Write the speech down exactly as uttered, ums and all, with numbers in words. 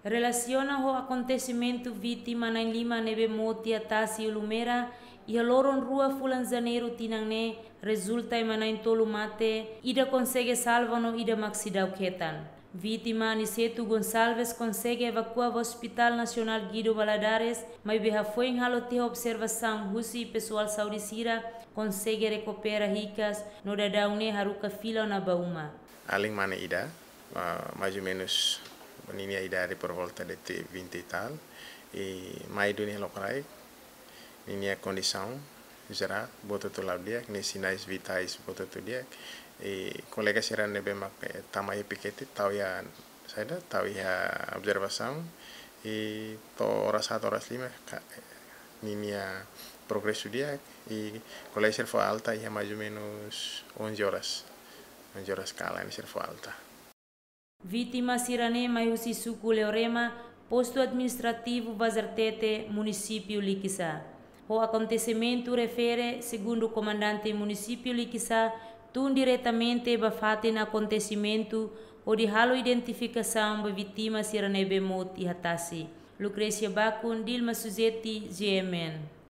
Relasiona ho akontesimentu vítima na'in lima ne'ebé mout iha tasi Ulumera iha loron rua fulan Janeiru tinan ne'e, rezulta ema na'in tolu mate, ida konsege salva no ida mak seidauk hetan. Vítima Aniceto Gonçalves konsege evakua ba Hospital Nasionál Guido Valadares, maibé hafoin halo tiha observasaun husi pesoál saúde sira, konsege rekupera hikas no daudaun ne'e haruka fila ona ba uma. Alin mane ida, ah, mais ou menos ninia idade por volta de te-, vinte e tal, i mai duni lokraik, ninia kondisaun jerál, buat hotu la'o di'ak, nia sinais vitais buat hotu di'ak, i kolega sira ne'ebé mak, eh, tama iha pikete, tau iha saida, tau iha observasaun, i to'o oras haat, oras lima, ka-, ninia progresu di'ak, i kolega sira fó alta iha mais ou menos onze horas, onze horas kalan sira fó alta. Vítima sira-ne'e mai husi suku Leorema, postu administrativu Bazartete, munisípiu Likisá. Ho akontesimentu refere, segundu komandante munisípiu Likisá, tun diretamente ba fatin akontesimentu, hodi halo identifikasaun ba vítima sira ne'ebé mout iha tasi. Lucrecia Bacun, Dilma Suzeti, G M N.